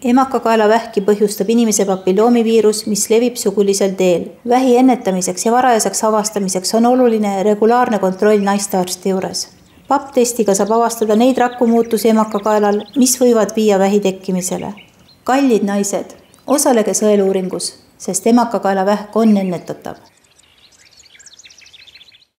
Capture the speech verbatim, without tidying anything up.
Emakakaelavähki põhjustab inimese papilloomiviirus, mis levib sugulisel teel. Vähi ennetamiseks ja varajaseks avastamiseks on oluline regulaarne kontroll naistearsti juures. P A P-testiga saab avastada neid rakumuutusi emakakaelal, mis võivad viia vähi tekkimisele. Kallid naised, osalege sõeluuringus, sest emakakaelavähk on ennetatav.